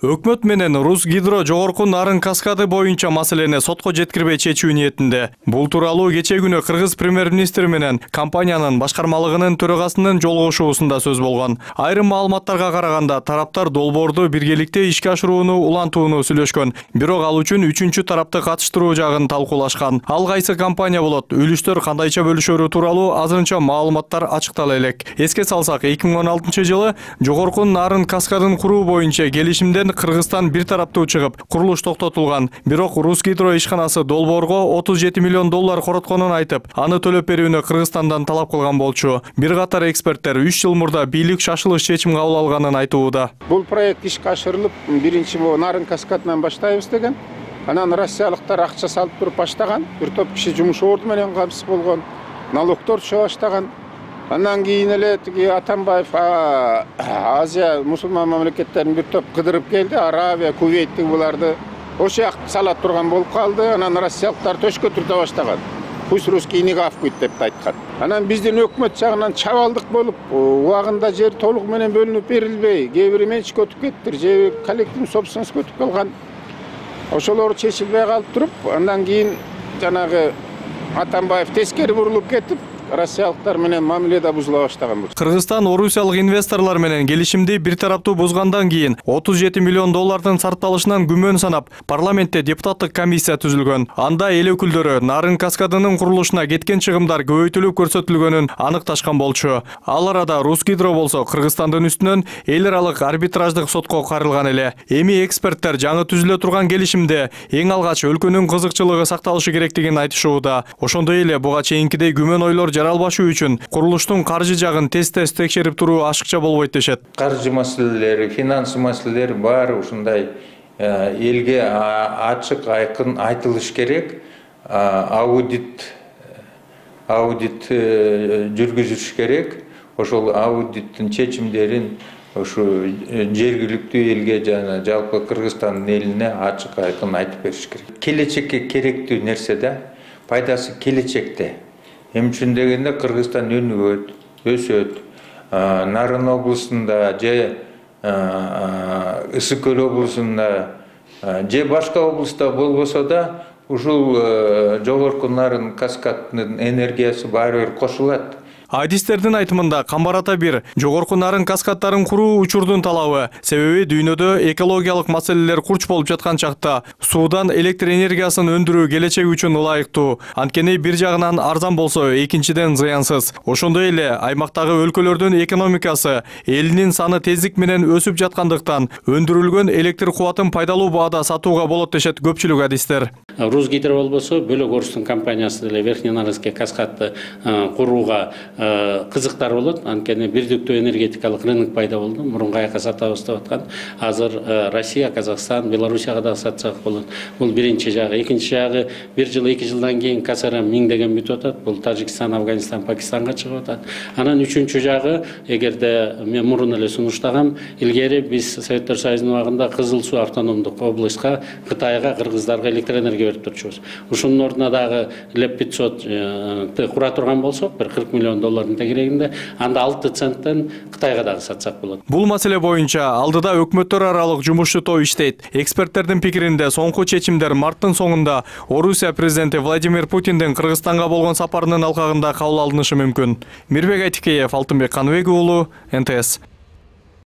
Өкмөт менен Русгидро жогорку нарын каскады боюнча маселени сотко жеткирбей чечүү ниетинде. Бул тууралуу кечээ күнү кыргыз премьер-министри менен компаниянын башкармалыгынын төрагасынын жолугушуусунда сөз болгон. Айрым маалыматтарга караганда тараптар долбоорду биргеликте ишке ашырууну улантууну сүйлөшкөн. Бирок ал үчүн үчүнчү тарапты катыштыруу жагын талкуулашкан. Ал кайсы компания болот, үлүштөр кандайча бөлүшөрү тууралуу азырынча маалыматтар ачыктала элек. Эске салсак, 2016-жылы жогорку нарын каскадын куруу боюнча келишимден Кыргызстан бир тараптуу чыгып, курулуш токтотулган. Бирок Русгидро ишканасы долбоорго $37 миллион коротконун айтып, аны төлөп берүүнү Кыргызстандан талап кылган болчу. Бир катар эксперттер 3 жыл мурда бийлик шашылыш чечим кабыл алганын айтууда. Бул проект ишке ашырылып, биринчи нарын каскадынан баштайбыз деген. Анан россиялыктар акча салып туруп баштаган. Бир топ киши жумуш орду менен камсыз болгон. Налогдор түшө баштаган. Андан кийин эле тиги Атамбаев Азия мусулман мамлекеттерин бир топ кыдырып келди. Арабия, Кувейттик буларды ошо жакты сала турган болуп калды. Анан россиялыктар төшкө түртө баштаган. Пусть русский не гавкает деп айткан. Анан биздин өкмөт жагынан чабалдык болуп, убагында жер толук менен бөлүнүп берилбей, кээ бири менчикке өтүп кетти, же коллективдик собственностько өтүп калган. Ошолор чечилбей калып туруп, андан кийин жанагы Атамбаев тескери бурулуп кетип, россиялыктар менен мамиледе бузула баштаган болчу. Кыргызстан орусиялык инвесторлор менен келишимди бир тараптуу бузгандан кийин $37 миллион сарпталышынан күмөн санап, парламентте депутаттык комиссия түзүлгөн. Анда эл өкүлдөрү нарын каскадынын курулушуна кеткен чыгымдар көбөйтүлүп көрсөтүлгөнүн аныкташкан болчу. Ал арада Русгидро болсо Кыргызстандын үстүнөн эл аралык арбитраждык сотко карылган эле. Эми эксперттер жаңы түзүлө турган келишимде эң алгач өлкөнүн кызыкчылыгы сакталышы керектигин айтышууда. Ошондой эле буга чейинкидей күмөн ойлор жаралбашуу үчүн курулуштун каржы жагын тез-тез текшерип туруу ашыкча болбойт дешет. Каржы маселелери, финансы маселелери баары ушундай элге ачык, айкын айтылыш керек. Аудит жүргүзүш керек. Ошол аудиттин чечимдерин ошо жергиликтүү элге жана жалпы Кыргызстандын элине ачык, айкын айтып бериш керек. Келечекке керектүү нерсе да, пайдасы келечекте. Эми үчүн дегенде Кыргызстан өнүгөт, өсөт. Нарын облусунда же Ысык Көл облусунда же башка облуста болбосо да ушул жогорку нарын каскадынын энергиясы баары бир кошулат. Адистердин айтымында Камбарата 1 жогорку нарын каскадтарын куруу учурдун талабы. Себеби дүйнөдө экологиялык маселелер курч болуп жаткан чакта суудан электр энергиясын өндүрүү келечек үчүн ылайыктуу. Анткени бир жагынан арзан болсо, экинчиден зыянсыз. Ошондой эле аймактагы өлкөлөрдүн экономикасы элинин саны тездик менен өсүп жаткандыктан өндүрүлгөн электр кубатын пайдалуу баада сатууга болот дешет көпчүлүк адистер. Русгидро болбосо бөлөк орустун компаниясы деле Верхненарынский каскадты курууга кызыктар болот. Анткени бирдиктүү энергетикалык рынок пайда болду. Мурунку аяка сатабыз деп аткан. Азыр Россия, Казакстан, Белоруссияга да сатсак болот. Бул биринчи жагы. Экинчи жагы 1 жыл 2 жылдан кийин КСРМ миңдеген бүтүп атат. Бул Тажикстан, Афганистан, Пакистанга чыгып атат. Анан үчүнчү жагы, эгерде мен мурун эле сунуштагам, илгери биз Советтер Союзунун убагында Кызыл Суу автономдук областка, Кытайга, кыргыздарга электр энергия берип турчубуз. Ушунун ордуна дагы ЛЭП 500 кура турган болсок, бир $40 миллион тегерегинде, анда 6 центтен Кытайга дагы сатсак болот. Бул маселе боюнча алдыда өкмөттөр аралык жумушчу топ иштейт. Эксперттердин пикиринде соңку чечимдер марттын соңунда Орусия президенти Владимир Путиндин Кыргызстанга болгон сапарынын алкагында кабыл алынышы мүмкүн. Мирбек Айтикеев, Алтынбек Каныбек уулу, НТС.